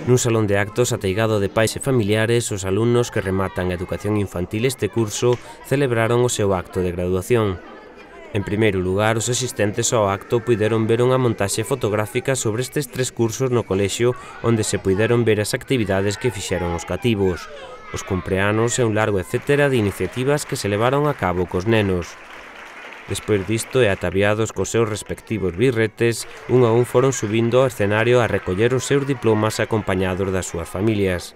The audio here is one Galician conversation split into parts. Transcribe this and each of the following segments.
Nun salón de actos ateigado de pais e familiares, os alumnos que rematan a educación infantil este curso celebraron o seu acto de graduación. En primeiro lugar, os asistentes ao acto puideron ver unha montaxe fotográfica sobre estes 3 cursos no colexio onde se puideron ver as actividades que fixeron os cativos, os cumpleanos e un largo etcétera de iniciativas que se levaron a cabo cos nenos. Despois disto e ataviados cos seus respectivos birretes, un a un foron subindo ao escenario a recoller os seus diplomas acompañados das súas familias.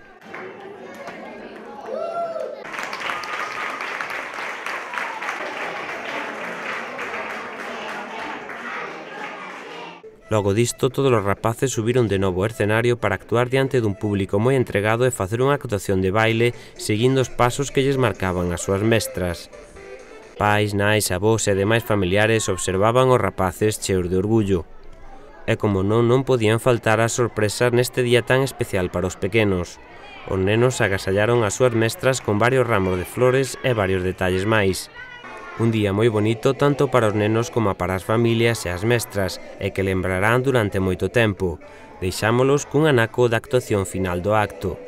Logo disto, todos os rapaces subiron de novo ao escenario para actuar diante dun público moi entregado e facer unha actuación de baile seguindo os pasos que lles marcaban as súas mestras. Pais, nais, avós e demais familiares observaban os rapaces cheos de orgullo. E como non podían faltar as sorpresas neste día tan especial para os pequenos. Os nenos agasallaron as súas mestras con varios ramos de flores e varios detalles máis. Un día moi bonito tanto para os nenos como para as familias e as mestras e que lembrarán durante moito tempo. Deixámolos cun anaco da actuación final do acto.